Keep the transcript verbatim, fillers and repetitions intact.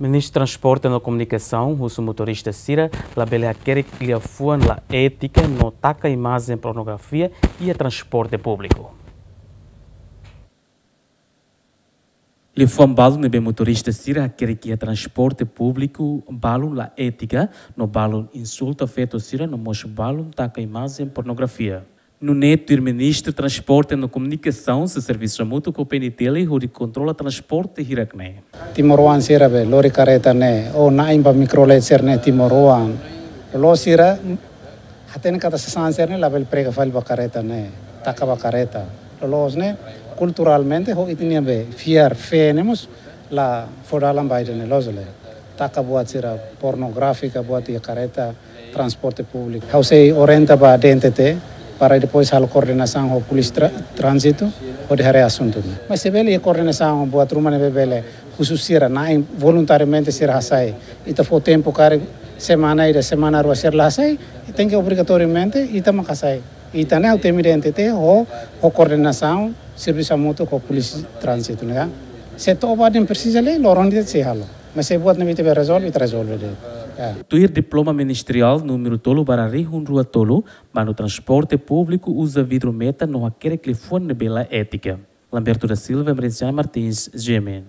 Ministru Transporte no Komunikasaun husu motorista sira labele hakerek liafuan la étika no taka imajen pornografia iha transporte públiku. Liafuan balu ne'ebé motorista sira hakerek iha transporte públiku balu la étika, no balu insulta feto sira no mós balu taka imajen pornografia. Nune'e tuir Ministru Transporte no Komunikasaun sei servisu hamutuk ho P N T L hodi kontrola transporte hirak-ne'e. Timoroan sira be lori kareta ne'e, ou na'in ba mikrolet sira-ne'e timoroan. Loloos sira hatene katak sasán sira-ne'e labele prega fali ba kareta ne'e, taka ba kareta. Loloos ne'e kulturalmente ho ita-nia be fiar fé ne'e mós la fó dalan ba ida-ne'e, loos ka lae. Taka buat sira pornográfika buat iha kareta, transporte públiku. Ha'u sei orienta ba D N T T para depois halo koordenasaun ho polísia tra-, tránzitu hodi haree asuntu ne'e. Mas se bele iha koordenasaun buat ruma ne'ebé bele husu sira na'in voluntariamente sira hasai. Ita fó tempu karik semana ida, semana rua sira la hasai, tenke obrigatoriamente ita mak hasai. Ita ne'e ha'u temi D N T T ho, ho koordenasaun servisu hamutuk ho polísia tránzitu ne'e. Se to'o ba ida-ne'e presiza lai, loron ita sei halo. Mas se buat ne'ebé ita bele rezolve, ita rezolve de'it. Ya. Tuir diploma ministeriál númeru tolu barra rihun rua tolu, manu transporte públiku uza vidru metan no hakerek liafuan ne'ebé la étika. Lamberto da Silva, Emerenciana Martins, G M N.